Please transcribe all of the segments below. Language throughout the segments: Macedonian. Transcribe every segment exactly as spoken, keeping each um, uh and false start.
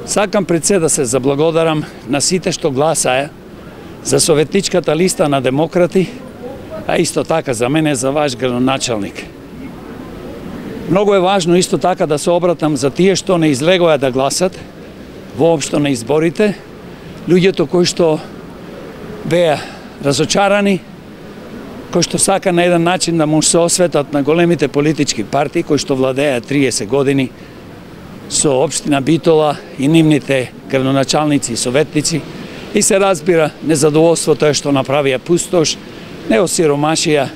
Сакам пред се да се заблагодарам на сите што гласаја за советничката листа на демократи, а исто така за мене за ваш градоначалник. Многу е важно исто така да се обратам за тие што не излегоа да гласат воопшто на изборите, луѓето кои што беа разочарани, кои што сака на еден начин да му се осветат на големите политички партии кои што владеат триесет години со општина Битола и нивните градоначалници и советници, и се разбира незадоволството е што направија пустош, не осиромашија,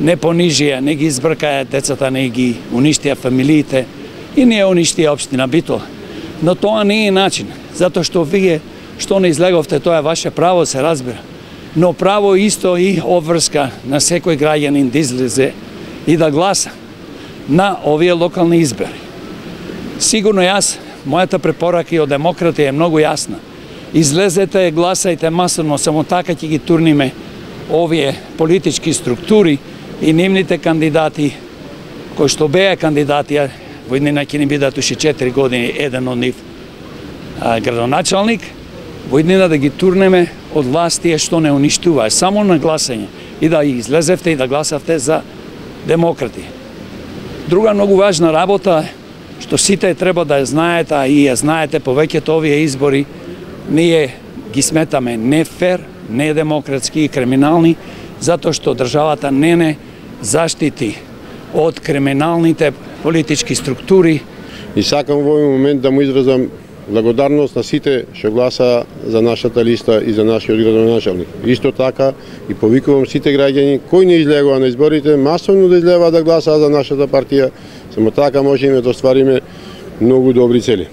не понижија, не ги избркаја децата, не ги уништија фамилиите и не уништија општина Битола. Но тоа не е начин, затоа што вие што не излеговте, тоа е ваше право, се разбира. Но право исто и обврска на секој граѓанин да излезе и да гласа на овие локални избори. Сигурно јас, мојата препорака и од демократи е многу јасна. Излезете, гласајте масовно, само така ќе ги турниме овие политички структури и нивните кандидати, кои што беа кандидати, во иднина ќе ни бидат уште четири години, еден од нив а, градоначалник, во иднина да ги турнеме од власт тие што не уништуваа, само на гласање, и да излезевте и да гласавте за демократи. Друга многу важна работа е што сите треба да ја знаете, а и ја знаете, повеќето овие избори ние ги сметаме нефер, недемократски и криминални, затоа што државата не не заштити од криминалните политички структури. И сакам во овој момент да му изразам благодарност на сите што гласа за нашата листа и за нашиот градоначалник. Исто така и повикувам сите граѓани кои не излегоа на изборите, масовно да излегоа да гласаат за нашата партија, само така можеме да оствариме многу добри цели.